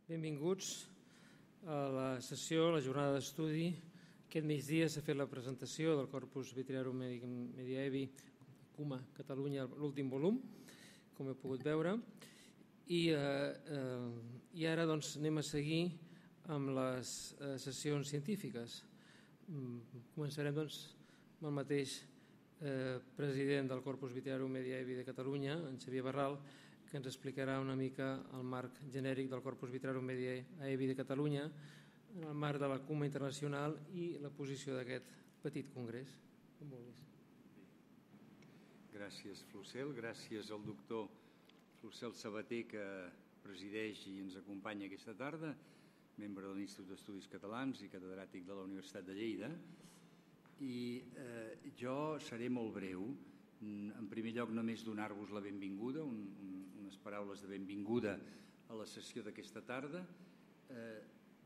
Benvinguts a la sessió, a la jornada d'estudi. Aquest migdia s'ha fet la presentació del Corpus Vitriarum Medievi CUMA Catalunya, l'últim volum, com he pogut veure. I ara anem a seguir amb les sessions científiques. Començarem amb el mateix president del Corpus Vitriarum Medievi de Catalunya, en Xavier Barral, que ens explicarà una mica el marc genèric del Corpus Vitriarum Medievi de Catalunya, en el marc de la CUMA internacional i la posició d'aquest petit congrés. Com vulguis. Gràcies, Flocel. Gràcies al doctor Flocel Sabater, que presideix i ens acompanya aquesta tarda, membre de l'Institut d'Estudis Catalans i catedràtic de la Universitat de Lleida. I jo seré molt breu. En primer lloc, només donar-vos la benvinguda, unes paraules de benvinguda a la sessió d'aquesta tarda.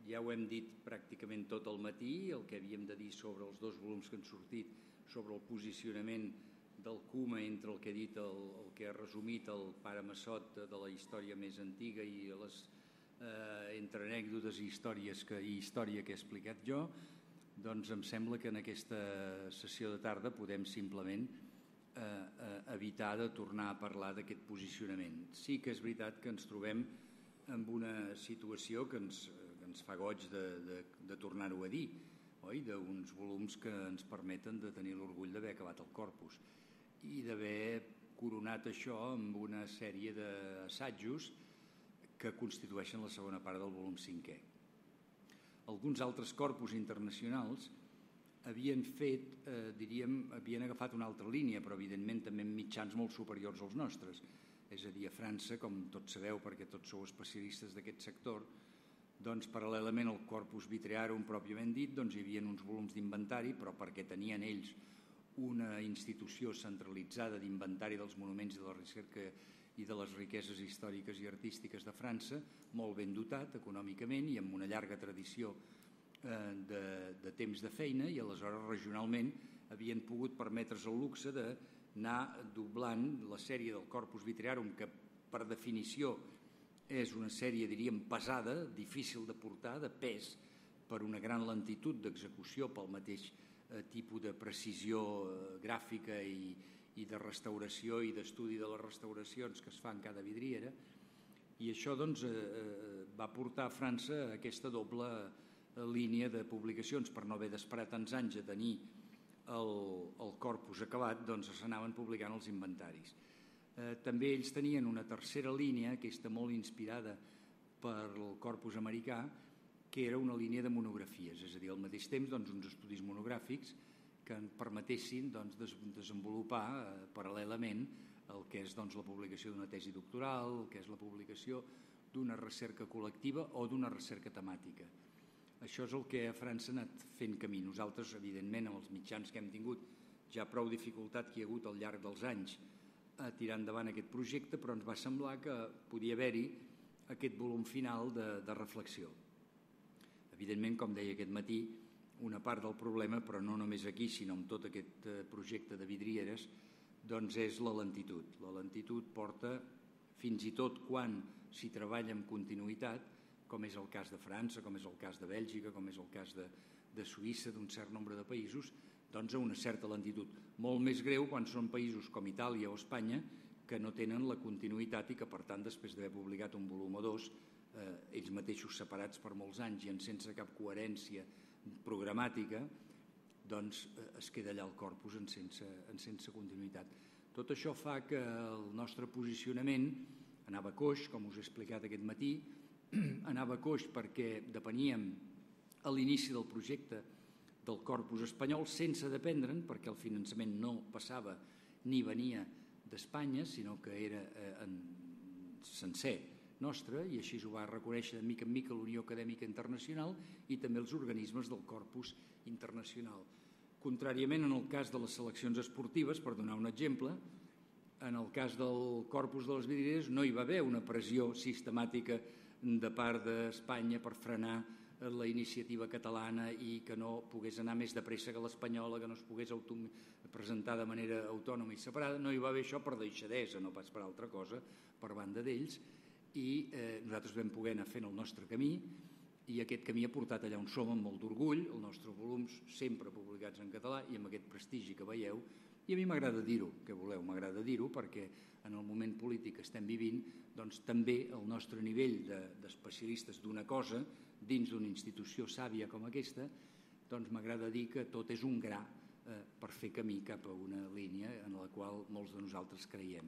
Ja ho hem dit pràcticament tot el matí, el que havíem de dir sobre els dos volums que han sortit, sobre el posicionament del CUMA entre el que ha dit, el que ha resumit el pare Massot de la història més antiga i les entre anècdotes i història que he explicat jo. Doncs em sembla que en aquesta sessió de tarda podem simplement evitar de tornar a parlar d'aquest posicionament. Sí que és veritat que ens trobem en una situació que ens fa goig de tornar-ho a dir, oi? D'uns volums que ens permeten de tenir l'orgull d'haver acabat el corpus i d'haver coronat això amb una sèrie d'assajos que constitueixen la segona part del volum 5è. Alguns altres corpus internacionals havien agafat una altra línia, però evidentment també en mitjans molt superiors als nostres. És a dir, a França, com tots sabeu, perquè tots sou especialistes d'aquest sector, doncs paral·lelament al Corpus Vitriarum pròpiament dit, doncs hi havia uns volums d'inventari, però perquè tenien ells una institució centralitzada d'inventari dels monuments i de la recerca i de les riqueses històriques i artístiques de França, molt ben dotat econòmicament i amb una llarga tradició de temps de feina, i aleshores regionalment havien pogut permetre's el luxe d'anar doblant la sèrie del Corpus Vitriarum, que per definició és una sèrie, diríem, pesada, difícil de portar, de pes, per una gran lentitud d'execució, pel mateix tipus de precisió gràfica i de restauració i d'estudi de les restauracions que es fan cada vidriera. I això doncs va portar a França aquesta doble línia de publicacions. Per no haver d'esperar tants anys a tenir el corpus acabat, doncs s'anaven publicant els inventaris. També ells tenien una tercera línia, aquesta molt inspirada pel corpus americà, que era una línia de monografies, és a dir, al mateix temps uns estudis monogràfics que permetessin desenvolupar paral·lelament el que és la publicació d'una tesi doctoral, el que és la publicació d'una recerca col·lectiva o d'una recerca temàtica. Això és el que a França ha anat fent camí. Nosaltres, evidentment, amb els mitjans que hem tingut, ja prou dificultat que hi ha hagut al llarg dels anys a tirar endavant aquest projecte, però ens va semblar que podia haver-hi aquest volum final de reflexió. Evidentment, com deia aquest matí, una part del problema, però no només aquí, sinó en tot aquest projecte de vidrieres, doncs és la lentitud. La lentitud porta, fins i tot quan s'hi treballa amb continuïtat, com és el cas de França, com és el cas de Bèlgica, com és el cas de Suïssa, d'un cert nombre de països, doncs a una certa lentitud. Molt més greu quan són països com Itàlia o Espanya que no tenen la continuïtat i que, per tant, després d'haver publicat un volum o dos, ells mateixos separats per molts anys i sense cap coherència programàtica, doncs es queda allà el corpus en sense continuïtat. Tot això fa que el nostre posicionament anava coix, com us he explicat aquest matí, anava coix perquè depeníem a l'inici del projecte del corpus espanyol sense dependre'n, perquè el finançament no passava ni venia d'Espanya, sinó que era sencer nostre, i així ho va reconèixer de mica en mica l'Unió Acadèmica Internacional i també els organismes del corpus internacional. Contràriament en el cas de les seleccions esportives, per donar un exemple, en el cas del corpus de les vidrieres no hi va haver una pressió sistemàtica de part d'Espanya per frenar la iniciativa catalana i que no pogués anar més de pressa que l'espanyola, que no es pogués presentar de manera autònoma i separada. No hi va haver això per deixadesa, no pas per altra cosa, per banda d'ells, i nosaltres vam poder anar fent el nostre camí i aquest camí ha portat allà on som amb molt d'orgull, els nostres volums sempre publicats en català i amb aquest prestigi que veieu. I a mi m'agrada dir-ho, què voleu, m'agrada dir-ho perquè en el moment polític que estem vivint doncs també el nostre nivell d'especialistes d'una cosa dins d'una institució sàvia com aquesta, doncs m'agrada dir que tot és un gra per fer camí cap a una línia en la qual molts de nosaltres creiem.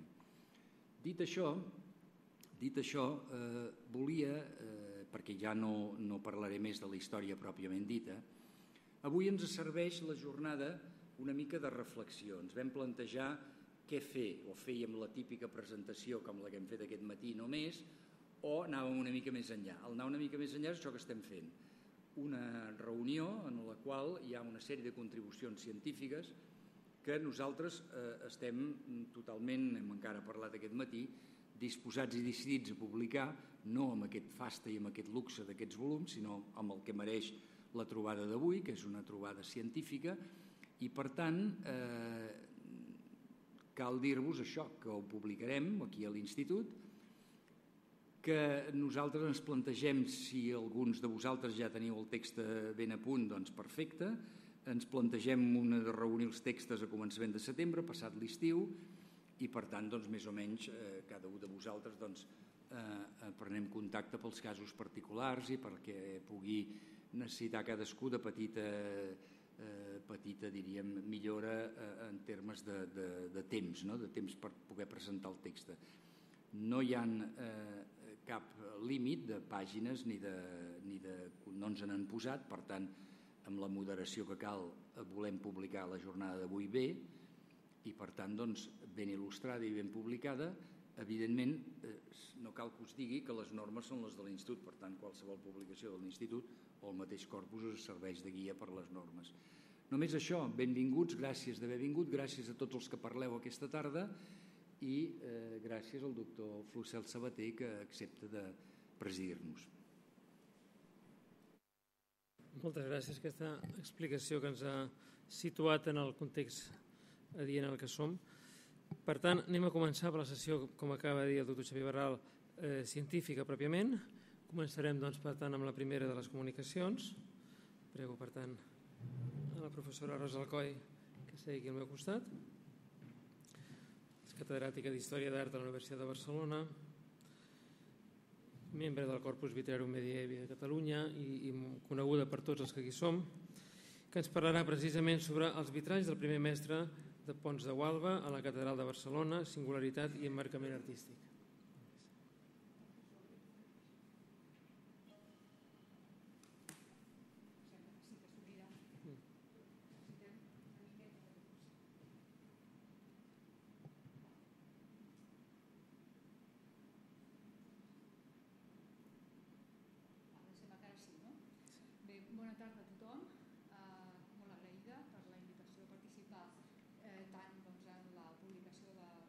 Dit això, volia, perquè ja no parlaré més de la història pròpiament dita, avui ens serveix la jornada una mica de reflexió. Ens vam plantejar què fer, o fèiem la típica presentació com la que hem fet aquest matí només, o anàvem una mica més enllà. El anar una mica més enllà és això que estem fent. Una reunió en la qual hi ha una sèrie de contribucions científiques que nosaltres estem totalment, hem encara parlat aquest matí, disposats i decidits a publicar, no amb aquest fasta i amb aquest luxe d'aquests volums, sinó amb el que mereix la trobada d'avui, que és una trobada científica, i per tant cal dir-vos això, que ho publicarem aquí a l'Institut, que nosaltres ens plantegem, si alguns de vosaltres ja teniu el text ben a punt, doncs perfecte, ens plantegem de reunir els textos a començament de setembre, passat l'estiu, i per tant, doncs, més o menys, cada un de vosaltres prenem contacte pels casos particulars i perquè pugui necessitar cadascú de petita, diríem, millora en termes de temps, de temps per poder presentar el text. No hi ha cap límit de pàgines no ens n'han posat, per tant, amb la moderació que cal volem publicar la jornada d'avui bé i per tant ben il·lustrada i ben publicada. Evidentment no cal que us digui que les normes són les de l'Institut, per tant qualsevol publicació de l'Institut o el mateix corpus us serveix de guia per les normes. Només això, benvinguts, gràcies d'haver vingut, gràcies a tots els que parleu aquesta tarda i gràcies al doctor Flucel Sabater que accepta de presidir-nos. Moltes gràcies per aquesta explicació que ens ha situat en el context adient en el que som. Per tant, anem a començar per la sessió, com acaba de dir el doctor Xavier Barral, científica pròpiament. Començarem, doncs, per tant, amb la primera de les comunicacions. Prego, per tant, a la professora Rosa Alcoi que segui aquí al meu costat. És catedràtica d'Història d'Art de la Universitat de Barcelona, membre del Corpus Vitrarum Medievi de Catalunya i coneguda per tots els que aquí som, que ens parlarà precisament sobre els vitralls del primer mestre de Pons de Gualba a la Catedral de Barcelona, singularitat i emmarcament artístic. Bona tarda a tothom. Molt agraïda per la invitació a participar tant en la publicació del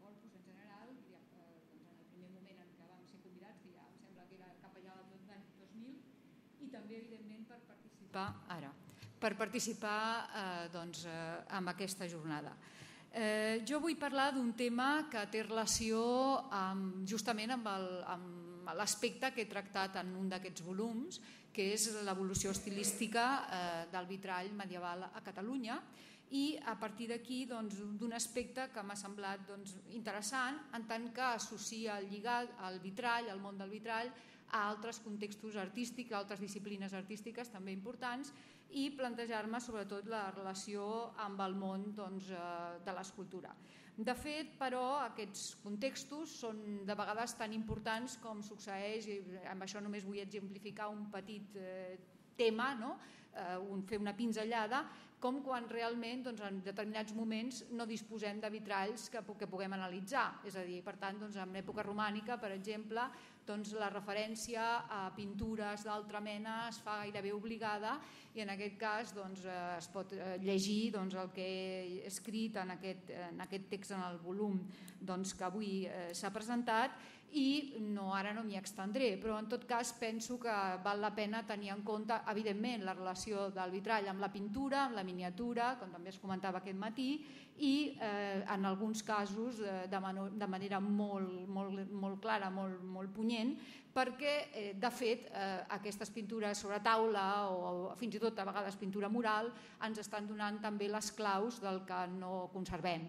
corpus en general, en el primer moment en què vam ser convidats, que ja em sembla que era cap allà del l'any 2000, i també, evidentment, per participar en aquesta jornada. Jo vull parlar d'un tema que té relació justament amb l'aspecte que he tractat en un d'aquests volums, que és l'evolució estilística del vitrall medieval a Catalunya, i a partir d'aquí d'un aspecte que m'ha semblat interessant en tant que associa el lligat al vitrall, al món del vitrall, a altres contextos artístics, a altres disciplines artístiques també importants, i plantejar-me sobretot la relació amb el món de l'escultura. De fet, però, aquests contextos són de vegades tan importants com succeeix, i amb això només vull exemplificar un petit tema, fer una pinzellada, com quan realment en determinats moments no disposem de vitralls que puguem analitzar. És a dir, per tant, en l'època romànica, per exemple, la referència a pintures d'altra mena es fa gairebé obligada i en aquest cas es pot llegir el que he escrit en aquest text en el volum que avui s'ha presentat i ara no m'hi extendré, però en tot cas penso que val la pena tenir en compte, evidentment, la relació del vitrall amb la pintura, amb la miniatura, com també es comentava aquest matí, i en alguns casos de manera molt clara, molt punyent, perquè, de fet, aquestes pintures sobre taula o fins i tot a vegades pintura mural ens estan donant també les claus del que no conservem.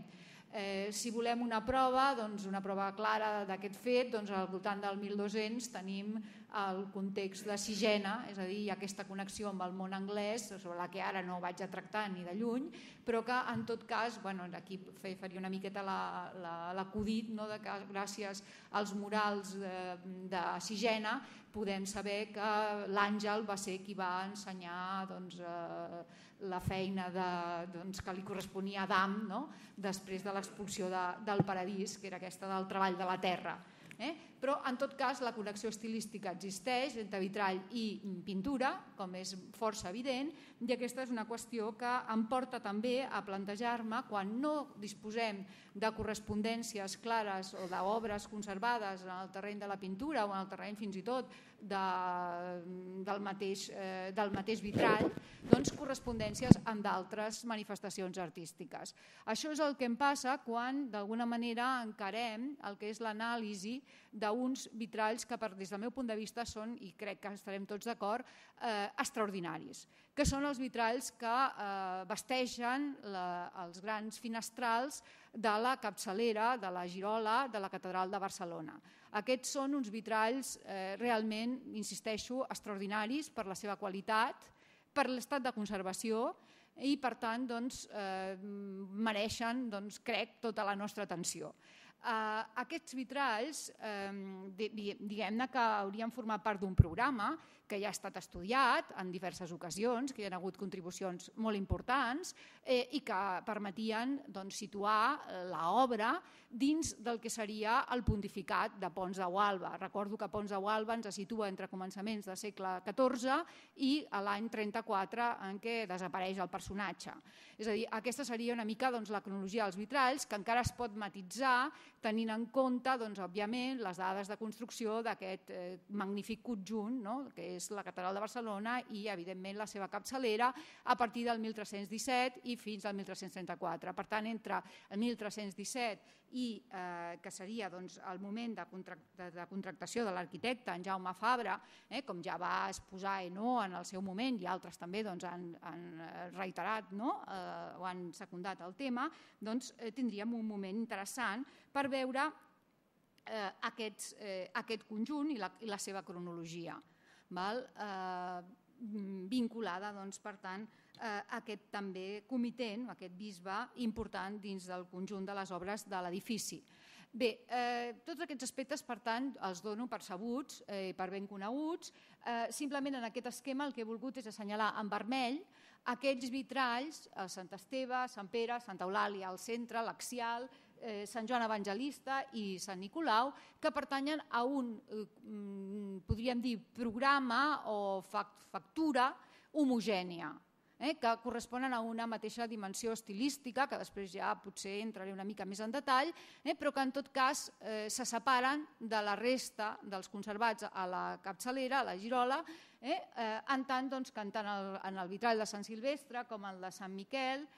Si volem una prova clara d'aquest fet, al voltant del 1200 tenim el context de Sigena, és a dir, hi ha aquesta connexió amb el món anglès, sobre la que ara no vaig a tractar ni de lluny, però que en tot cas, aquí faria una miqueta l'acudit, que gràcies als murals de Sigena podem saber que l'Àngel va ser qui va ensenyar la feina que li corresponia a Adam després de l'expulsió del paradís, que era aquesta del treball de la terra. Però en tot cas la connexió estilística existeix entre vitrall i pintura, com és força evident, i aquesta és una qüestió que em porta també a plantejar-me, quan no disposem de correspondències clares o d'obres conservades en el terreny de la pintura o en el terreny fins i tot del mateix vitrall, doncs correspondències amb d'altres manifestacions artístiques. Això és el que em passa quan d'alguna manera encarem el que és l'anàlisi d'uns vitralls que des del meu punt de vista són, i crec que estarem tots d'acord, extraordinaris, que són els vitralls que vesteixen els grans finestrals de la capçalera, de la girola de la Catedral de Barcelona. Aquests són uns vitralls realment, insisteixo, extraordinaris per la seva qualitat, per l'estat de conservació i per tant mereixen, crec, tota la nostra atenció. Aquests vitralls, diguem-ne que haurien format part d'un programa que ja ha estat estudiat en diverses ocasions, que hi ha hagut contribucions molt importants i que permetien situar l'obra dins del que seria el pontificat de Pons de Gualba. Recordo que Pons de Gualba ens situa entre començaments del segle XIV i l'any 34 en què desapareix el personatge. És a dir, aquesta seria una mica la cronologia dels vitralls, que encara es pot matitzar tenint en compte, òbviament, les dades de construcció d'aquest magnífic conjunt, que és la Catedral de Barcelona i, evidentment, la seva capçalera a partir del 1317 i fins al 1334. Per tant, entre el 1317 i que seria el moment de contractació de l'arquitecte en Jaume Fabra, com ja va exposar Hainaut en el seu moment i altres també han reiterat o han secundat el tema, tindríem un moment interessant per veure aquest conjunt i la seva cronologia, vinculada, per tant, a aquest també comitent, aquest bisbe important dins del conjunt de les obres de l'edifici. Bé, tots aquests aspectes, per tant, els dono per sabuts, per ben coneguts. Simplement en aquest esquema el que he volgut és assenyalar en vermell aquests vitralls, Sant Esteve, Sant Pere, Santa Eulàlia al centre, l'Axial, Sant Joan Evangelista i Sant Nicolau, que pertanyen a un, podríem dir, programa o factura homogènia, que corresponen a una mateixa dimensió estilística, que després ja potser entraré una mica més en detall, però que en tot cas se separen de la resta dels conservats a la capçalera, a la girola, en tant que tant en el vitrall de Sant Silvestre com el de Sant Miquel,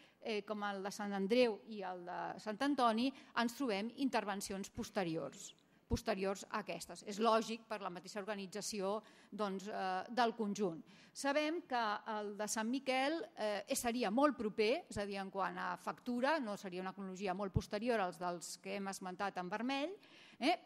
com el de Sant Andreu i el de Sant Antoni, ens trobem intervencions posteriors a aquestes. És lògic per la mateixa organització del conjunt. Sabem que el de Sant Miquel seria molt proper, és a dir, en quant a factura, no seria una cronologia molt posterior als dels que hem esmentat en vermell,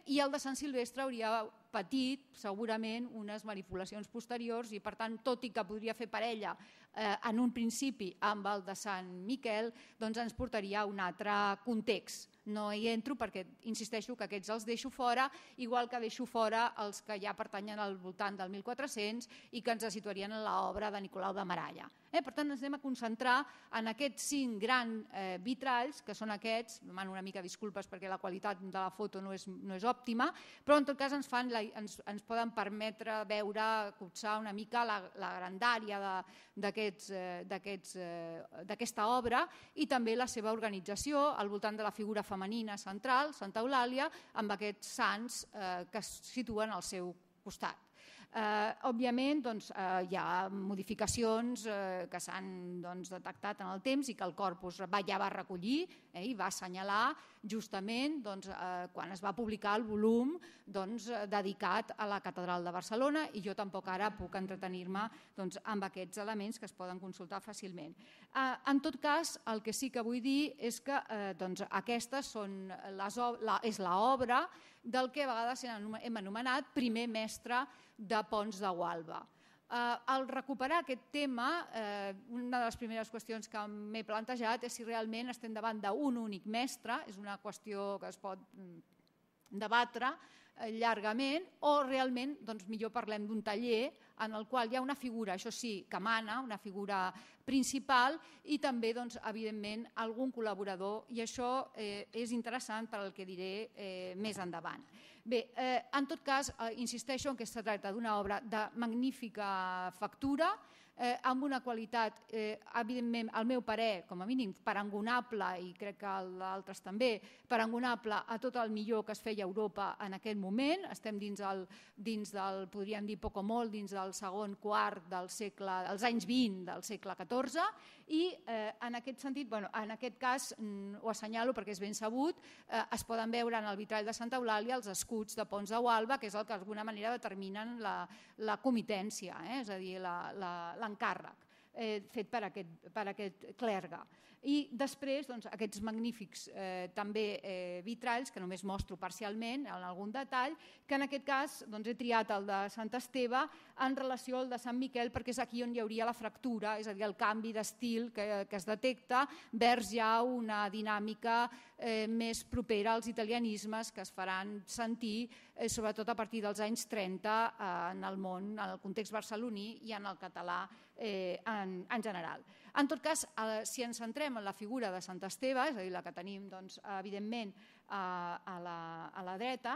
i el de Sant Silvestre hauria patit segurament unes manipulacions posteriors i, per tant, tot i que podria fer parella en un principi amb el de Sant Miquel, doncs ens portaria a un altre context. No hi entro perquè insisteixo que aquests els deixo fora, igual que deixo fora els que ja pertanyen al voltant del 1400 i que ens situarien en l'obra de Nicolau de Maralla. Per tant, ens anem a concentrar en aquests 5 grans vitralls, que són aquests, demano una mica disculpes perquè la qualitat de la foto no és òptima, però en tot cas ens poden permetre veure, copsar una mica la grandària d'aquesta obra i també la seva organització al voltant de la figura femenina central, Santa Eulàlia, amb aquests sants que es situen al seu costat. Òbviament, hi ha modificacions que s'han detectat en el temps i que el corpus ja va recollir i va assenyalar justament quan es va publicar el volum dedicat a la Catedral de Barcelona, i jo tampoc ara puc entretenir-me amb aquests elements que es poden consultar fàcilment. En tot cas, el que sí que vull dir és que aquestes és l'obra del que a vegades hem anomenat primer mestre de Pons de Gualba. Al recuperar aquest tema, una de les primeres qüestions que m'he plantejat és si realment estem davant d'un únic mestre, és una qüestió que es pot debatre llargament, o realment millor parlem d'un taller en el qual hi ha una figura, això sí, que mana, una figura principal, i també, evidentment, algun col·laborador, i això és interessant per al que diré més endavant. Bé, en tot cas, insisteixo en que es tracta d'una obra de magnífica factura, amb una qualitat, evidentment, al meu parer, com a mínim, parangonable, i crec que d'altres també, parangonable a tot el millor que es feia a Europa en aquell moment. Estem dins del, podríem dir poc o molt, dins del segon quart dels anys 20 del segle XIV, i en aquest sentit, en aquest cas, ho assenyalo perquè és ben sabut, es poden veure en el vitrall de Santa Eulàlia els escuts de Pons de Gualba, que és el que d'alguna manera determinen la comitència, és a dir, l'encàrrec fet per aquest clergue. I després aquests magnífics també vitralls, que només mostro parcialment en algun detall, que en aquest cas he triat el de Sant Esteve en relació al de Sant Miquel, perquè és aquí on hi hauria la fractura, és a dir, el canvi d'estil que es detecta vers ja una dinàmica més propera als italianismes que es faran sentir sobretot a partir dels anys 30 en el món, en el context barceloní i en el català en general. En tot cas, si ens centrem en la figura de Sant Esteve, és a dir, la que tenim, evidentment, a la dreta,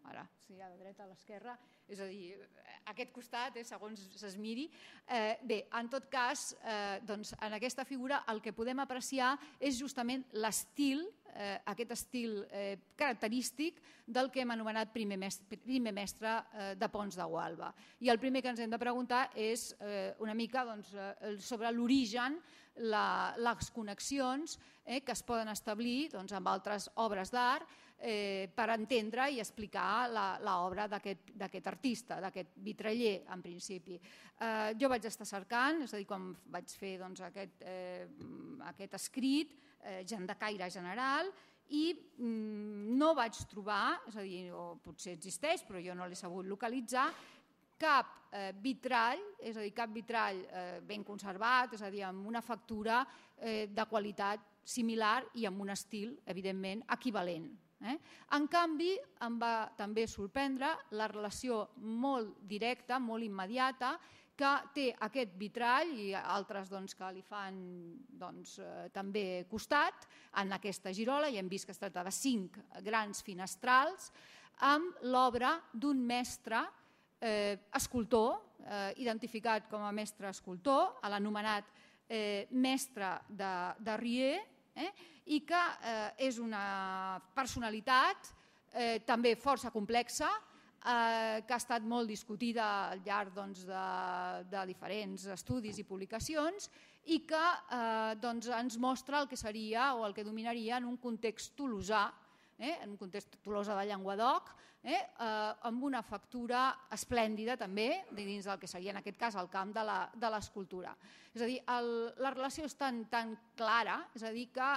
ara, sí, a la dreta, a l'esquerra, és a dir, aquest costat, segons es miri. Bé, en tot cas, en aquesta figura el que podem apreciar és justament l'estil, aquest estil característic del que hem anomenat primer mestre de Pons de Gualba. I el primer que ens hem de preguntar és una mica sobre l'origen, les connexions que es poden establir amb altres obres d'art per entendre i explicar l'obra d'aquest artista, d'aquest vitraller, en principi. Jo vaig estar cercant, és a dir, quan vaig fer aquest escrit, de caire general, i no vaig trobar, és a dir, o potser existeix, però jo no l'he sabut localitzar, cap vitrall, és a dir, cap vitrall ben conservat, és a dir, amb una factura de qualitat similar i amb un estil, evidentment, equivalent. En canvi, em va també sorprendre la relació molt directa, molt immediata, que té aquest vitrall i altres que li fan també costat en aquesta girola, i hem vist que es tracta de 5 grans finestrals, amb l'obra d'un mestre escultor, identificat com a mestre escultor, l'anomenat mestre de Rier, i que és una personalitat també força complexa, que ha estat molt discutida al llarg de diferents estudis i publicacions, i que ens mostra el que seria o el que dominaria en un context tolosà, en un context Tolosa de Llenguadoc, amb una factura esplèndida també, dins del que seria en aquest cas el camp de l'escultura. És a dir, la relació és tan clara, és a dir, que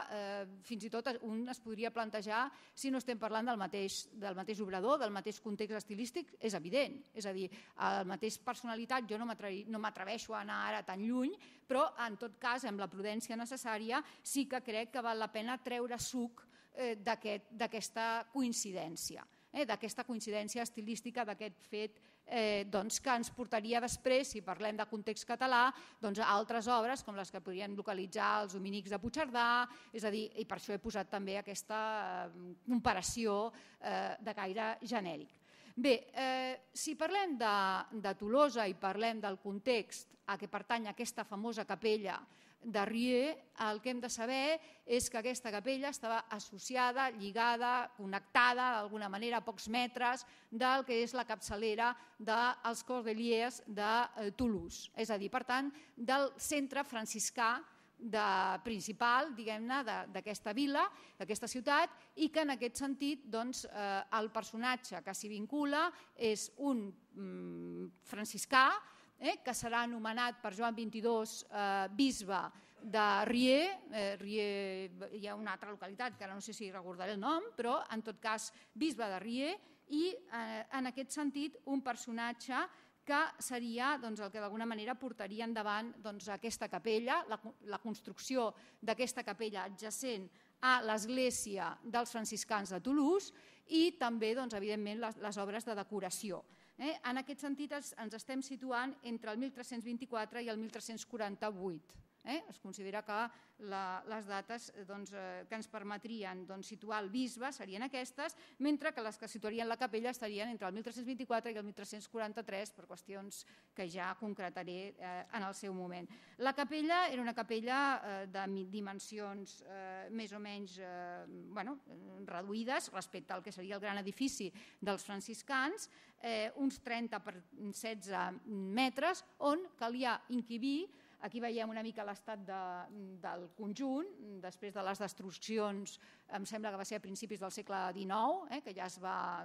fins i tot un es podria plantejar si no estem parlant del mateix obrador, del mateix context estilístic, és evident. És a dir, la mateixa personalitat, jo no m'atreveixo a anar ara tan lluny, però en tot cas, amb la prudència necessària, sí que crec que val la pena treure suc d'aquesta coincidència, d'aquesta coincidència estilística, d'aquest fet que ens portaria després, si parlem de context català, a altres obres com les que podríem localitzar els dominics de Puigcerdà, és a dir, i per això he posat també aquesta comparació de caire genèric. Bé, si parlem de Tolosa i parlem del context a què pertany aquesta famosa capella de Rieux, el que hem de saber és que aquesta capella estava associada, lligada, connectada d'alguna manera a pocs metres del que és la capçalera dels Cordeliers de Toulouse. És a dir, per tant, del centre franciscà principal, diguem-ne, d'aquesta vila, d'aquesta ciutat, i que en aquest sentit el personatge que s'hi vincula és un franciscà que serà anomenat per Joan XXII bisbe de Rieux. Rieux hi ha una altra localitat que ara no sé si recordaré el nom, però en tot cas bisbe de Rieux, i en aquest sentit un personatge que seria el que d'alguna manera portaria endavant aquesta capella, la construcció d'aquesta capella adjacent a l'església dels franciscans de Toulouse i també, evidentment, les obres de decoració. En aquest sentit ens estem situant entre el 1324 i el 1348. Es considera que les dates que ens permetrien situar el bisbe serien aquestes, mentre que les que situarien la capella estarien entre el 1324 i el 1343 per qüestions que ja concretaré en el seu moment. La capella era una capella de dimensions més o menys reduïdes respecte al que seria el gran edifici dels franciscans, uns 30 per 16 metres, on calia encabir. Aquí veiem una mica l'estat del conjunt, després de les destruccions, em sembla que va ser a principis del segle XIX, que ja es va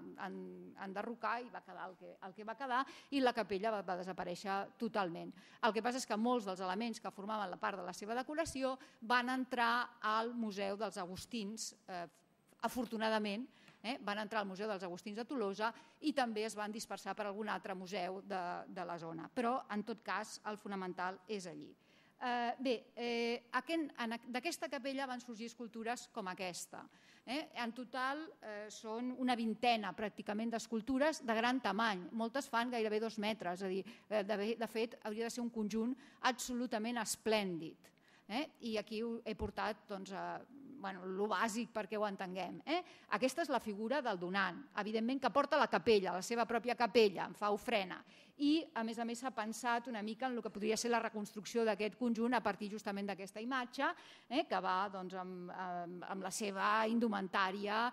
enderrocar i va quedar el que va quedar, i la capella va desaparèixer totalment. El que passa és que molts dels elements que formaven la part de la seva decoració van entrar al Museu dels Agustins, afortunadament, van entrar al Museu dels Agustins de Tolosa i també es van dispersar per algun altre museu de la zona. Però, en tot cas, el fonamental és allí. Bé, d'aquesta capella van sorgir escultures com aquesta. En total són una vintena pràcticament d'escultures de gran tamany. Moltes fan gairebé 2 metres. De fet, hauria de ser un conjunt absolutament esplèndid. I aquí he portat el bàsic perquè ho entenguem. Aquesta és la figura del donant, evidentment que porta la capella, la seva pròpia capella, en fa ofrena. I, a més, s'ha pensat una mica en el que podria ser la reconstrucció d'aquest conjunt a partir justament d'aquesta imatge, que va amb la seva indumentària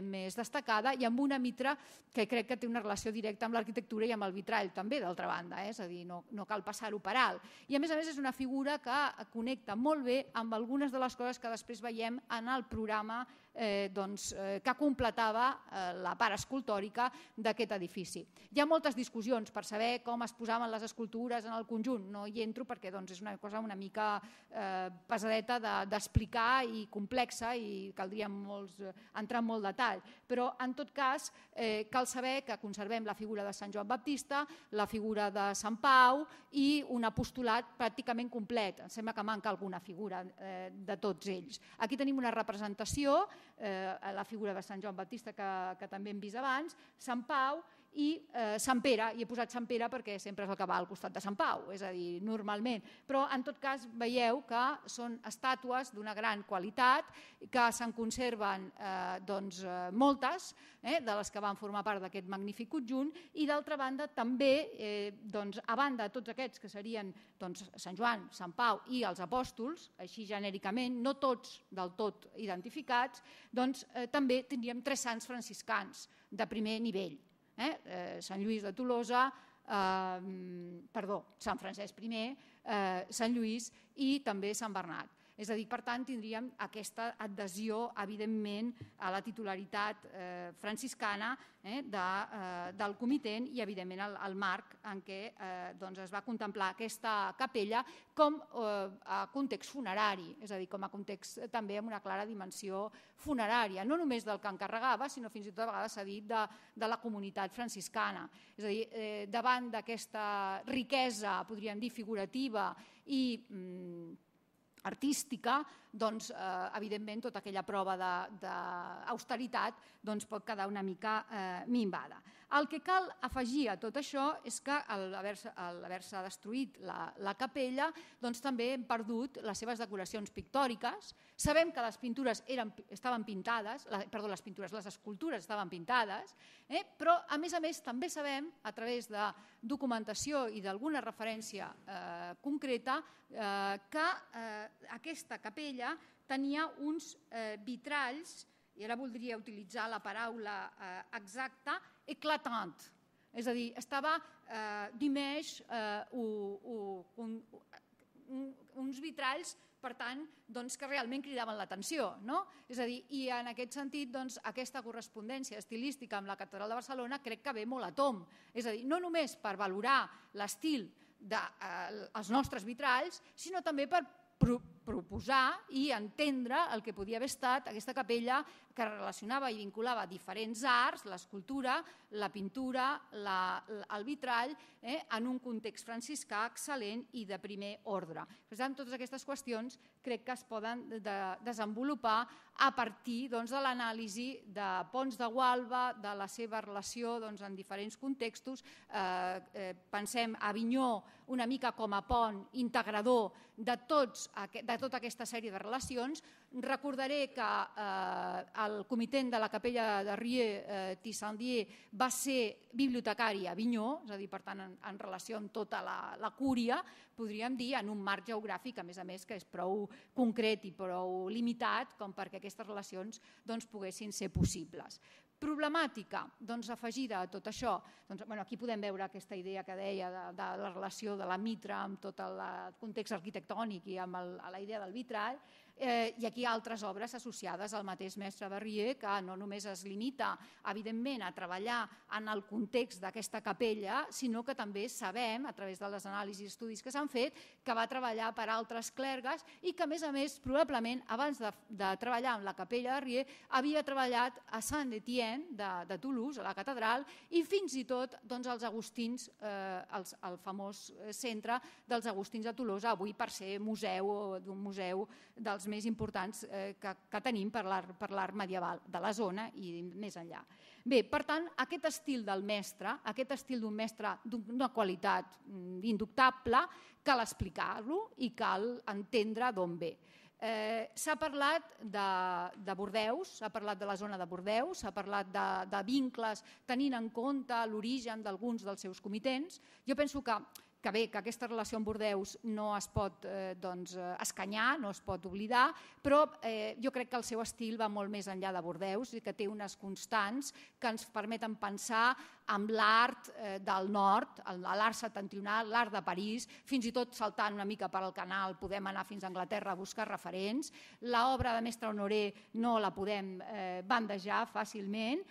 més destacada i amb una mitra que crec que té una relació directa amb l'arquitectura i amb el vitrall també, d'altra banda, és a dir, no cal passar-ho per alt. I, a més, és una figura que connecta molt bé amb algunes de les coses que després veiem en el programa que completava la part escultòrica d'aquest edifici. Hi ha moltes discussions per saber com es posaven les escultures en el conjunt. No hi entro perquè és una cosa una mica pesadeta d'explicar i complexa i caldria entrar en molt detall. Però, en tot cas, cal saber que conservem la figura de Sant Joan Baptista, la figura de Sant Pau i un apostolat pràcticament complet. Em sembla que manca alguna figura de tots ells. Aquí tenim una representació, la figura de Sant Joan Baptista que també hem vist abans, Sant Pau i Sant Pere. Hi he posat Sant Pere perquè sempre és el que va al costat de Sant Pau, és a dir, normalment. Però, en tot cas, veieu que són estàtues d'una gran qualitat, que se'n conserven moltes, de les que van formar part d'aquest magnífic conjunt, i d'altra banda també, a banda de tots aquests que serien Sant Joan, Sant Pau i els apòstols, així genèricament, no tots del tot identificats, també tindríem 3 sants franciscans de primer nivell. Sant Lluís de Tolosa, Sant Francesc I, Sant Lluís i també Sant Bernat. És a dir, per tant, tindríem aquesta adhesió, evidentment, a la titularitat franciscana del comitent i, evidentment, al marc en què es va contemplar aquesta capella com a context funerari, és a dir, com a context també amb una clara dimensió funerària, no només del que encarregava, sinó fins i tot a vegades s'ha dit de la comunitat franciscana. És a dir, davant d'aquesta riquesa, podríem dir, figurativa i artística, doncs, evidentment, tota aquella prova d'austeritat pot quedar una mica minvada. El que cal afegir a tot això és que al haver-se destruït la capella, doncs també hem perdut les seves decoracions pictòriques. Sabem que les pintures estaven pintades, les escultures estaven pintades, però a més també sabem, a través de documentació i d'alguna referència concreta, que aquesta capella tenia uns vitralls, i ara voldria utilitzar la paraula exacta, eclatant. És a dir, estava d'image uns vitralls, per tant, que realment cridaven l'atenció. És a dir, i en aquest sentit, aquesta correspondència estilística amb la Catedral de Barcelona crec que ve molt a tomb. És a dir, no només per valorar l'estil dels nostres vitralls, sinó també per proposar i entendre el que podia haver estat aquesta capella que relacionava i vinculava diferents arts, l'escultura, la pintura, el vitrall, en un context franciscà excel·lent i de primer ordre. Per tant, totes aquestes qüestions crec que es poden desenvolupar a partir de l'anàlisi de Pons de Gualba, de la seva relació en diferents contextos. Pensem a Avinyó una mica com a pont integrador de tota aquesta sèrie de relacions. Recordaré que el comitent de la capella de Rieux, Tissandier, va ser bibliotecari a Avinyó, és a dir, per tant, en relació amb tota la cúria, podríem dir, en un marc geogràfic, a més, que és prou concret i prou limitat com perquè aquestes relacions poguessin ser possibles. Problemàtica afegida a tot això. Aquí podem veure aquesta idea que deia de la relació de la mitra amb tot el context arquitectònic i amb la idea del vitrall. I aquí altres obres associades al mateix mestre Berrier, que no només es limita, evidentment, a treballar en el context d'aquesta capella, sinó que també sabem, a través de les anàlisis i estudis que s'han fet, que va treballar per altres clergues i que, a més, probablement, abans de treballar amb la capella de Rieux, havia treballat a Saint-Étienne de Toulouse, a la catedral, i fins i tot els agustins, el famós centre dels agustins de Tolosa, avui per ser d'un museu dels més importants que tenim per l'art medieval de la zona i més enllà. Bé, per tant, aquest estil del mestre, aquest estil d'un mestre d'una qualitat indubtable, cal explicar-lo i cal entendre d'on ve. S'ha parlat de Bordeus, s'ha parlat de la zona de Bordeus, s'ha parlat de vincles tenint en compte l'origen d'alguns dels seus comitents. Jo penso que aquesta relació amb Bordeus no es pot escanyar, no es pot oblidar, però jo crec que el seu estil va molt més enllà de Bordeus i que té unes constants que ens permeten pensar en l'art del nord, l'art septentrional, l'art de París, fins i tot saltant una mica per al canal podem anar fins a Anglaterra a buscar referents. L'obra de Mestre Honoré no la podem bandejar fàcilment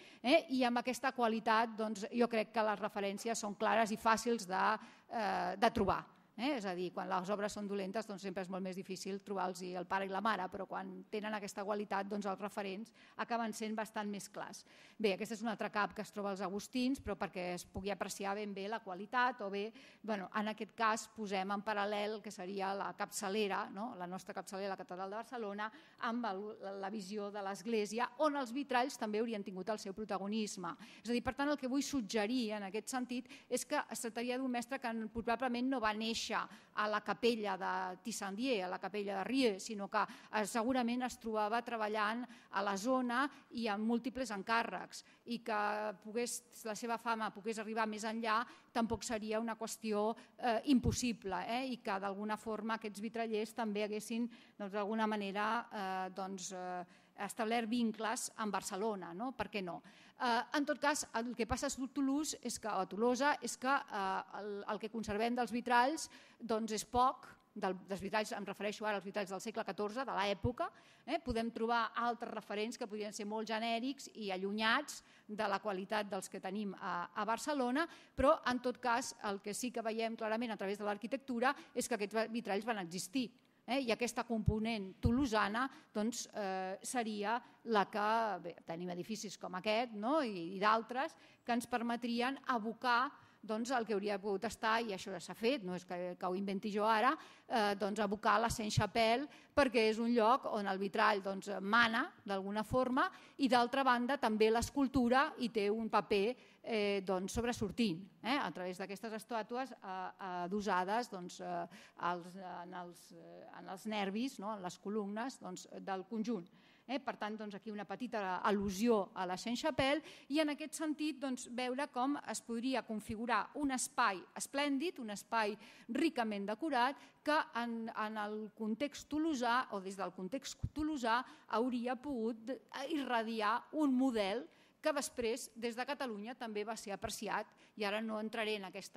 i amb aquesta qualitat jo crec que les referències són clares i fàcils de trobar. És a dir, quan les obres són dolentes sempre és molt més difícil trobar-los el pare i la mare, però quan tenen aquesta qualitat els referents acaben sent bastant més clars. Bé, aquest és un altre cap que es troba als agustins, però perquè es pugui apreciar ben bé la qualitat o bé, en aquest cas posem en paral·lel el que seria la capçalera, la nostra capçalera, la Catedral de Barcelona, amb la visió de l'església, on els vitralls també haurien tingut el seu protagonisme. És a dir, per tant, el que vull suggerir en aquest sentit és que es tractaria d'un mestre que probablement no va néixer a la capella de Tissandier, a la capella de Rieux, sinó que segurament es trobava treballant a la zona i amb múltiples encàrrecs i que la seva fama pogués arribar més enllà tampoc seria una qüestió impossible i que d'alguna forma aquests vitrallers també haguessin d'alguna manera establert vincles amb Barcelona, per què no? En tot cas, el que passa a Tolosa és que el que conservem dels vitralls és poc, dels vitralls, em refereixo ara als vitralls del segle XIV, de l'època, podem trobar altres referents que podrien ser molt genèrics i allunyats de la qualitat dels que tenim a Barcelona, però en tot cas el que sí que veiem clarament a través de l'arquitectura és que aquests vitralls van existir. I aquesta component tolosana seria la que, tenim edificis com aquest i d'altres, que ens permetrien abocar doncs el que hauria pogut estar, i això ja s'ha fet, no és que ho inventi jo ara, doncs abocar la Saint-Chapelle, perquè és un lloc on el vitrall mana d'alguna forma, i d'altra banda també l'escultura hi té un paper sobresortint a través d'aquestes estàtues adossades en els nervis, en les columnes del conjunt. Per tant, aquí una petita al·lusió a la Saint-Chapelle i en aquest sentit veure com es podria configurar un espai esplèndid, un espai ricament decorat que en el context tolosà o des del context tolosà hauria pogut irradiar un model que després des de Catalunya també va ser apreciat, i ara no entraré en aquest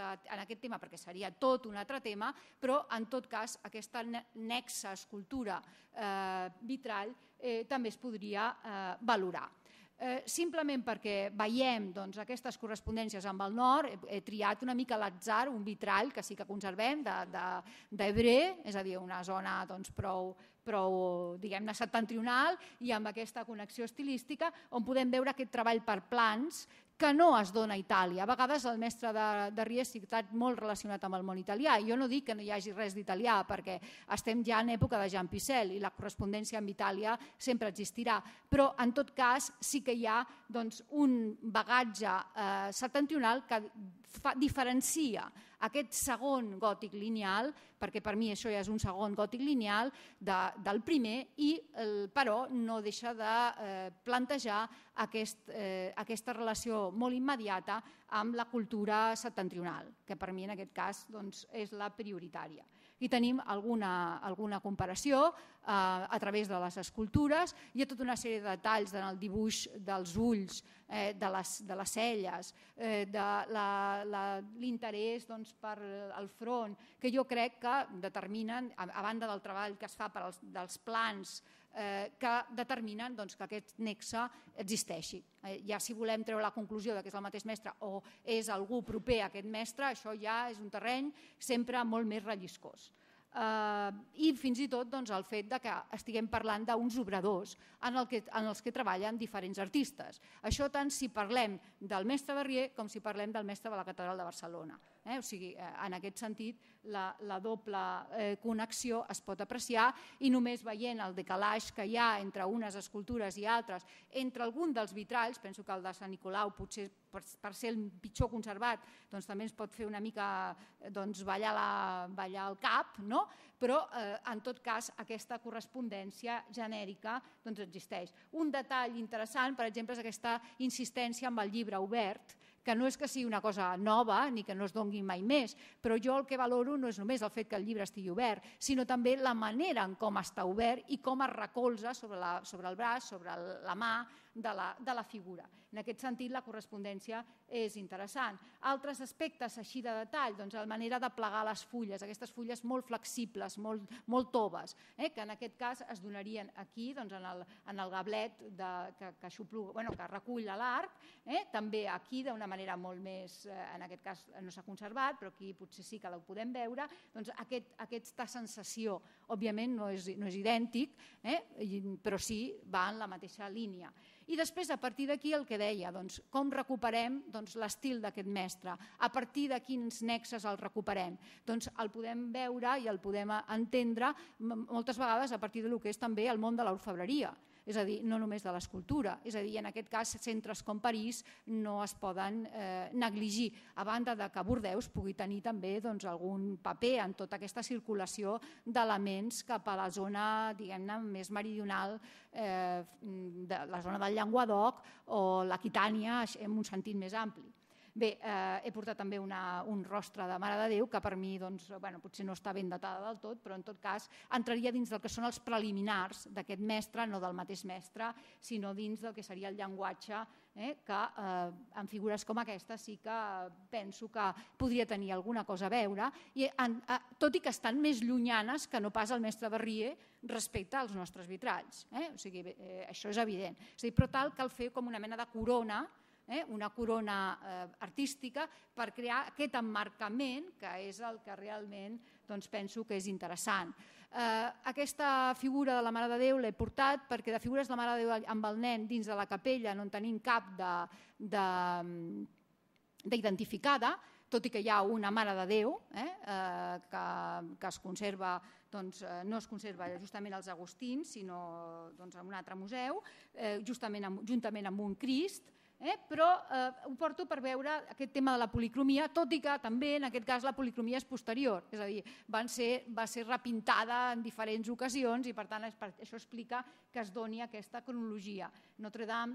tema perquè seria tot un altre tema, però en tot cas aquesta nexa escultura vitrall també es podria valorar. Simplement perquè veiem aquestes correspondències amb el nord, he triat una mica a l'atzar un vitrall que sí que conservem d'Evreux, és a dir, una zona prou diguem-ne septentrional i amb aquesta connexió estilística on podem veure aquest treball per plans que no es dona a Itàlia. A vegades el mestre de Ries ha estat molt relacionat amb el món italià. Jo no dic que no hi hagi res d'italià perquè estem ja en època de Jean Pissel i la correspondència amb Itàlia sempre existirà, però en tot cas sí que hi ha un bagatge septentrional que diferencia aquest segon gòtic lineal, perquè per mi això ja és un segon gòtic lineal del primer, però no deixa de plantejar aquesta relació molt immediata amb la cultura septentrional, que per mi en aquest cas és la prioritària. Aquí tenim alguna comparació a través de les escultures. Hi ha tota una sèrie de detalls en el dibuix dels ulls, de les celles, de l'interès per al front, que jo crec que determinen, a banda del treball que es fa dels plans, que determinen que aquest nexe existeixi. Ja si volem treure la conclusió que és el mateix mestre o és algú proper a aquest mestre, això ja és un terreny sempre molt més relliscós. I fins i tot el fet que estiguem parlant d'uns obradors en els que treballen diferents artistes. Això tant si parlem del mestre Verrier com si parlem del mestre de la Catedral de Barcelona. O sigui, en aquest sentit, la doble connexió es pot apreciar i només veient el decalatge que hi ha entre unes escultures i altres, entre algun dels vitralls, penso que el de Sant Nicolau potser per ser el pitjor conservat també ens pot fer una mica ballar el cap, però en tot cas aquesta correspondència genèrica existeix. Un detall interessant, per exemple, és aquesta insistència amb el llibre obert, que no és que sigui una cosa nova ni que no es doni mai més, però jo el que valoro no és només el fet que el llibre estigui obert, sinó també la manera en com està obert i com es recolza sobre el braç, sobre la mà de la figura. En aquest sentit, la correspondència és interessant. Altres aspectes així de detall, la manera de plegar les fulles, aquestes fulles molt flexibles, molt toves, que en aquest cas es donarien aquí, en el gablet que recull l'arc, també aquí d'una manera molt més, en aquest cas no s'ha conservat, però aquí potser sí que la podem veure, aquesta sensació, òbviament no és idèntic, però sí va en la mateixa línia. I després, a partir d'aquí, el que deia, com recuperem l'estil d'aquest mestre, a partir de quins nexes el recuperem. El podem veure i el podem entendre moltes vegades a partir del que és també el món de l'orfebreria, és a dir, no només de l'escultura, és a dir, en aquest cas centres com París no es poden negligir, a banda que Bordeus pugui tenir també algun paper en tota aquesta circulació d'elements cap a la zona, diguem-ne, més meridional, la zona del Llenguadoc o l'Aquitània en un sentit més ampli. Bé, he portat també un rostre de Mare de Déu que per mi potser no està ben datada del tot, però en tot cas entraria dins del que són els preliminars d'aquest mestre, no del mateix mestre, sinó dins del que seria el llenguatge, que en figures com aquesta sí que penso que podria tenir alguna cosa a veure, tot i que estan més llunyanes que no pas el mestre Verrier respecte als nostres vitralls. O sigui, això és evident. Però tal cal fer com una mena de corona, una corona artística per crear aquest emmarcament que és el que realment penso que és interessant. Aquesta figura de la Mare de Déu l'he portat perquè de figures de la Mare de Déu amb el nen dins de la capella no en tenim cap d'identificada, tot i que hi ha una Mare de Déu que es conserva, no es conserva justament als Agustins, sinó en un altre museu, juntament amb un Crist, però ho porto per veure aquest tema de la policromia, tot i que també en aquest cas la policromia és posterior, és a dir, va ser repintada en diferents ocasions i per tant això explica que es doni aquesta cronologia. Notre-Dame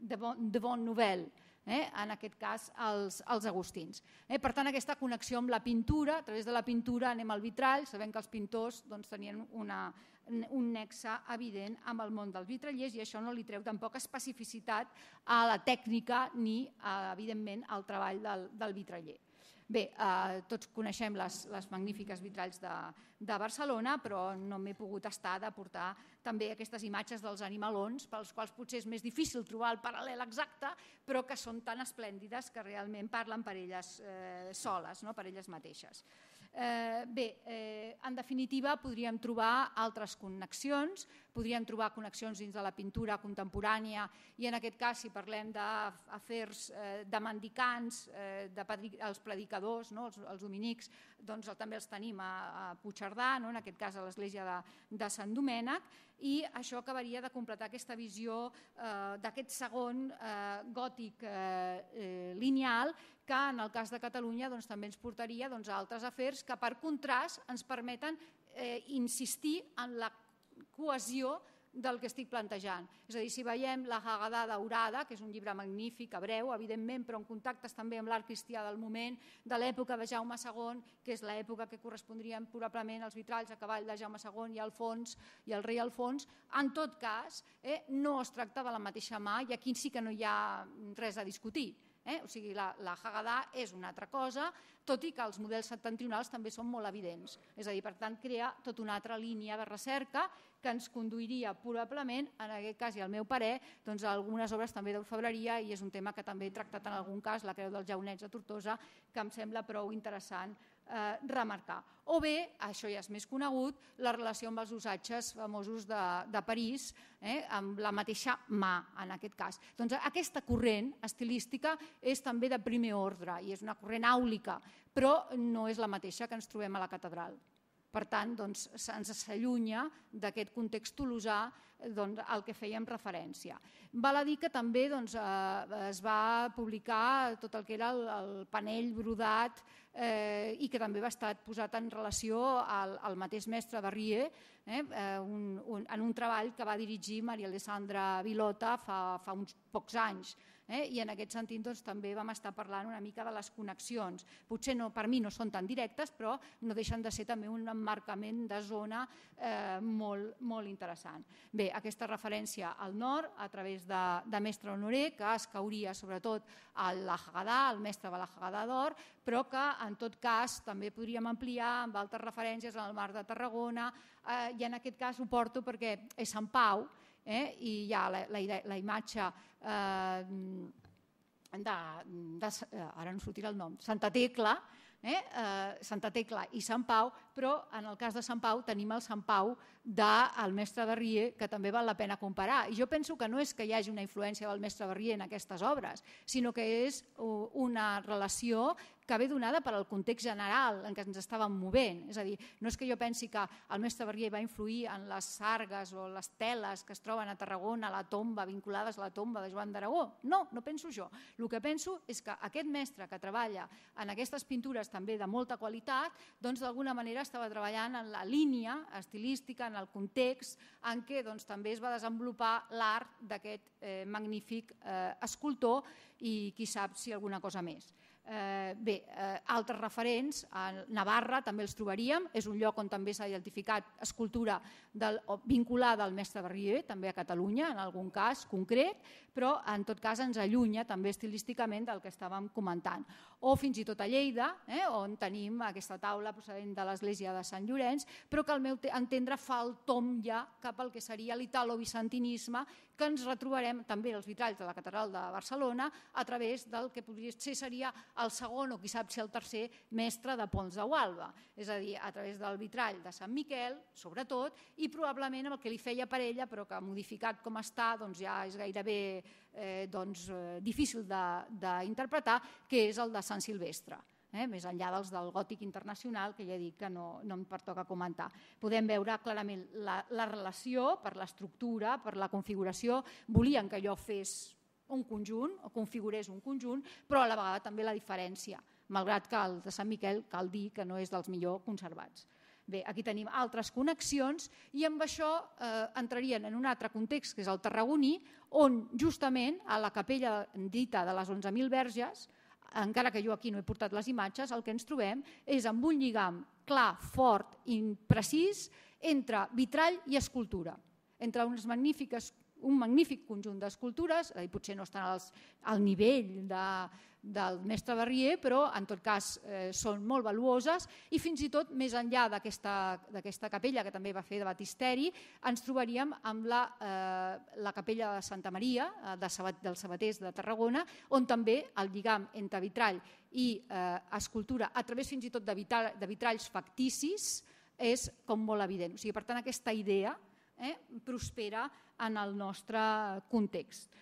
de Bonne Nouvelle, en aquest cas als Agustins. Per tant, aquesta connexió amb la pintura, a través de la pintura anem al vitrall, sabem que els pintors tenien un nexe evident amb el món dels vitrallers i això no li treu tampoc especificitat a la tècnica ni, evidentment, al treball del vitraller. Bé, tots coneixem les magnífiques vitralls de Barcelona, però no m'he pogut estar de portar també aquestes imatges dels animalons, pels quals potser és més difícil trobar el paral·lel exacte, però que són tan esplèndides que realment parlen per elles soles, per elles mateixes. Bé, en definitiva, podríem trobar altres connexions, podríem trobar connexions dins de la pintura contemporània i en aquest cas, si parlem d'afers de mendicants, els predicadors, els dominics, doncs també els tenim a Puigcerdà, en aquest cas a l'església de Sant Domènec, i això acabaria de completar aquesta visió d'aquest segon gòtic lineal que en el cas de Catalunya també ens portaria a altres afers que per contrast ens permeten insistir en la cohesió del que estic plantejant. És a dir, si veiem la Haggadah daurada, que és un llibre magnífic, hebreu, evidentment, però en contactes també amb l'art cristià del moment, de l'època de Jaume II, que és l'època que correspondrien probablement als vitralls a cavall de Jaume II i Alfons i el rei Alfons, en tot cas, no es tracta de la mateixa mà i aquí sí que no hi ha res a discutir. O sigui, la Haggadah és una altra cosa, tot i que els models septentrionals també són molt evidents. És a dir, per tant, crea tota una altra línia de recerca que ens conduiria probablement, en aquest cas i al meu parer, a algunes obres també d'orfebreria i és un tema que també he tractat en algun cas, la Creu dels Jaunets de Tortosa, que em sembla prou interessant remarcar. O bé, això ja és més conegut, la relació amb els usatges famosos de París, amb la mateixa mà, en aquest cas. Doncs aquesta corrent estilística és també de primer ordre i és una corrent àulica, però no és la mateixa que ens trobem a la catedral. Per tant, ens s'allunya d'aquest context tolosà al que fèiem referència. Val a dir que també es va publicar tot el que era el panell brodat i que també va estar posat en relació al mateix mestre Barrier en un treball que va dirigir Maria Alessandra Vilota fa uns pocs anys. I en aquest sentit també vam estar parlant una mica de les connexions. Potser per mi no són tan directes, però no deixen de ser també un emmarcament de zona molt interessant. Bé, aquesta referència al nord a través de Mestre Honoré, que es cauria sobretot a la Haggadah, al mestre de la Haggadah d'or, però que en tot cas també podríem ampliar amb altres referències al Mar de Tarragona i en aquest cas ho porto perquè és Sant Pau i hi ha la imatge ara no sortirà el nom, Santa Tecla i Sant Pau, però en el cas de Sant Pau tenim el Sant Pau del mestre Barrier, que també val la pena comparar. I jo penso que no és que hi hagi una influència del mestre Barrier en aquestes obres, sinó que és una relació que ve donada per al context general en què ens estàvem movent. És a dir, no és que jo pensi que el mestre Barrier va influir en les sargues o les teles que es troben a Tarragona, a la tomba, vinculades a la tomba de Joan d'Aragó. No, no penso això. El que penso és que aquest mestre que treballa en aquestes pintures també de molta qualitat, doncs d'alguna manera estava treballant en la línia estilística, en el context en què també es va desenvolupar l'art d'aquest magnífic escultor i qui sap si alguna cosa més. Bé, altres referents, a Navarra també els trobaríem, és un lloc on també s'ha identificat escultura vinculada al mestre Barrier, també a Catalunya, en algun cas concret, però en tot cas ens allunya també estilísticament del que estàvem comentant. O fins i tot a Lleida, on tenim aquesta taula procedent de l'església de Sant Llorenç, però que al meu entendre fa el tomb ja cap al que seria l'italo-bizantinisme, que ens retrobarem també els vitralls de la catedral de Barcelona a través del que podria ser seria el segon, o qui sap si el tercer, mestre de Pons de Gualba, és a dir, a través del vitrall de Sant Miquel, sobretot, i probablement amb el que li feia per ella, però que modificat com està ja és gairebé difícil d'interpretar, que és el de Sant Silvestre. Més enllà dels del gòtic internacional, que ja dic que no em pertoca comentar. Podem veure clarament la relació per l'estructura, per la configuració. Volien que allò fes un conjunt, o configurés un conjunt, però a la vegada també la diferència, malgrat que el de Sant Miquel cal dir que no és dels millor conservats. Bé, aquí tenim altres connexions i amb això entrarien en un altre context, que és el tarragoní, on justament a la capella dita de les 11.000 verges, encara que jo aquí no he portat les imatges, el que ens trobem és amb un lligam clar, fort i precís entre vitrall i escultura, entre un magnífic conjunt d'escultures, potser no estan al nivell del mestre Barrier, però en tot cas són molt valuoses i fins i tot més enllà d'aquesta capella, que també va fer de batisteri, ens trobaríem amb la capella de Santa Maria, dels Sabaters de Tarragona, on també el lligam entre vitrall i escultura, a través fins i tot de vitralls facticis, és com molt evident. O sigui, per tant, aquesta idea prospera en el nostre context.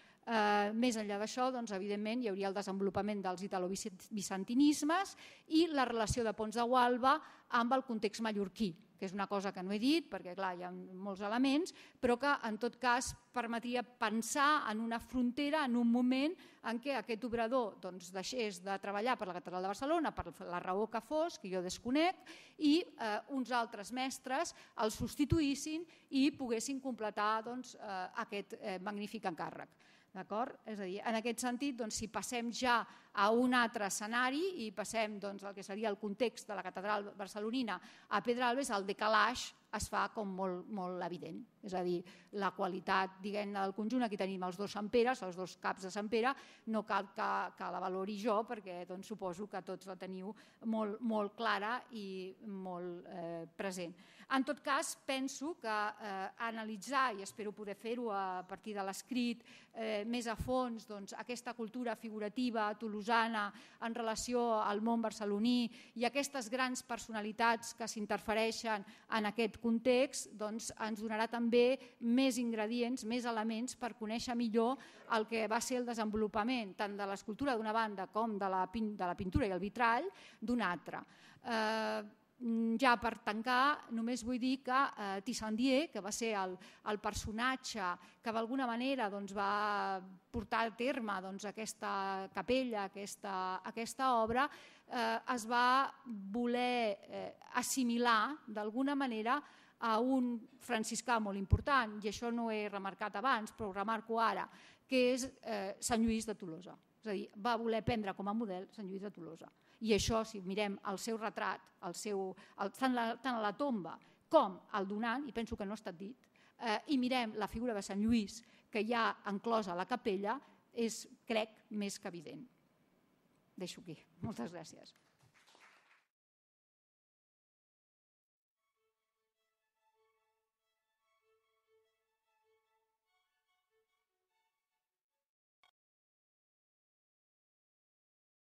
Més enllà d'això, evidentment, hi hauria el desenvolupament dels italobizantinismes i la relació de Pons de Gualba amb el context mallorquí, que és una cosa que no he dit perquè clar, hi ha molts elements, però que en tot cas permetria pensar en una frontera, en un moment en què aquest obrador deixés de treballar per la Catedral de Barcelona, per la raó que fos, que jo desconec, i uns altres mestres el substituïssin i poguessin completar aquest magnífic encàrrec. És a dir, en aquest sentit, si passem ja a un altre escenari i passem al que seria el context de la catedral barcelonina a Pedralbes, el decalaix es fa com molt evident. És a dir, la qualitat del conjunt, aquí tenim els dos Sant Peres, els dos caps de Sant Pere, no cal que la valori jo perquè suposo que tots la teniu molt clara i molt present. En tot cas, penso que analitzar, i espero poder fer-ho a partir de l'escrit, més a fons aquesta cultura figurativa tolosana en relació al món barceloní i aquestes grans personalitats que s'interfereixen en aquest context, ens donarà també més ingredients, més elements per conèixer millor el que va ser el desenvolupament tant de l'escultura d'una banda com de la pintura i el vitrall d'una altra. Ja per tancar, només vull dir que Tissandier, que va ser el personatge que d'alguna manera va portar a terme aquesta capella, aquesta obra, es va voler assimilar d'alguna manera a un franciscà molt important, i això no he remarcat abans, però ho remarco ara, que és Sant Lluís de Tolosa. És a dir, va voler prendre com a model Sant Lluís de Tolosa. I això, si mirem el seu retrat, tant a la tomba com al donant, i penso que no ha estat dit, i mirem la figura de Sant Lluís que hi ha enclosa a la capella, és, crec, més que evident. Deixo aquí. Moltes gràcies.